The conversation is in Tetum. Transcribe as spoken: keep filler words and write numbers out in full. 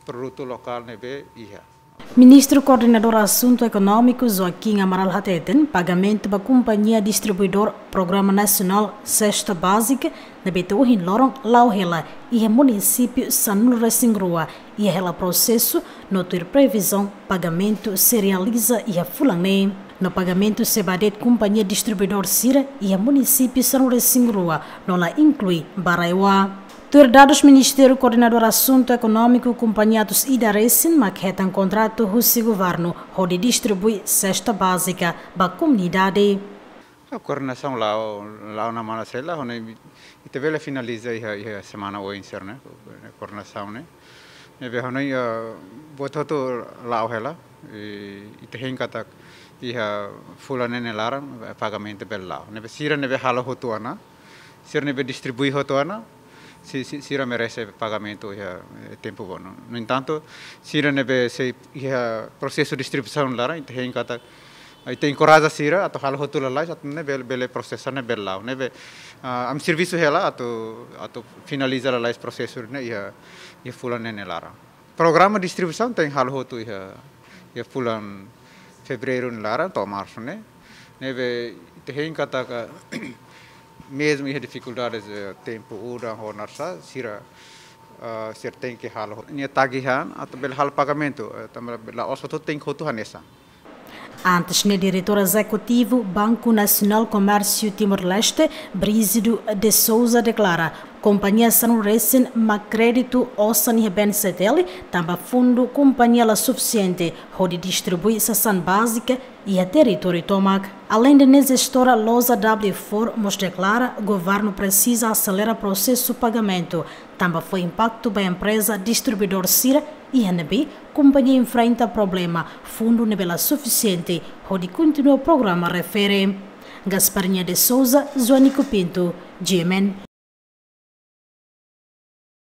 Produtu lokál ne'ebé iha. Ministru Koordenadór Asuntu Ekonómiku Joaquim Amaral hateten, pagamentu ba kompañia distribuidór Programa Nasionál Sesta Bázika ne'ebé to'o ohin loron la'o hela iha munisípiu sanulu-resin-rua iha hela prosesu, no tuir previzaun pagamentu sei realiza iha fulan ne'e. No pagamentu sei ba de'it kompañia distribuidór sira iha munisípiu sanulu-resin-rua, no la inklui ba RAEOA. Tuir dadus Ministériu Koordenadór Asuntu Ekonómiku, kompañia atus ida resin mak hetan kontratu husi governu hodi distribui sesta bázika ba komunidade. A koordenasaun la'o, la'o ona mana sela, hone ita bele finaliza iha, iha semana oin sira ne'e, koordenasaun ne'e. Ne'ebé hone, ah, buat hotu la'o hela, i, ita hein katak iha fulan ne'e nia laran, eh, pagamentu bele la'o. Ne'ebé sira ne'ebé halo hotu ona, sira ne'ebé distribui hotu ona, si, si, sira merese pagamentu iha, eh, tempu bono. No entantu, sira ne'ebé sei iha prosesu distribuisaun laran, ita hein katak, ita enkoraja sira atu halo hotu lalais, atu nune'e bele, bele prosesa ne'e bele la'o. Ne'ebé, ah, ami servisu hela atu, atu finaliza lalais prosesu ne'e iha, iha fulan ne'e nia laran. Programa distribuisaun tenke halo hotu iha, iha fulan Fevereiru nia laran to'o Marsu ne'e. Ne'ebé ita hein katak, mezmu iha difikuldades, eh, tempu udan ho narsá, sira, ah, sira tenke halo nia tagihan atu bele halo pagamentu, eh, tanba la'ós hotu tenke hotu hanesan. Antes ne'e, Diretór Ezekutivu Banku Nasionál Komérsiu Timor-Leste, Brígido de Sousa, deklara, kompañia sanulu-resin mak kréditu osan iha BNCTL, tanba fundu kompañia la sufisiente hodi distribui sasán bázika iha territóriu tomak. Aleinde ne'e, jestora Loza W four mós deklara, governu presiza aselera prosesu pagamentu, tanba fó impaktu ba empreza distribuidór sira, iha ne'ebé kompañia enfrenta problema fundu ne'ebé la sufisiente hodi kontinua programa refere. Gasparinha de Sousa, Joanico Pinto, G M N.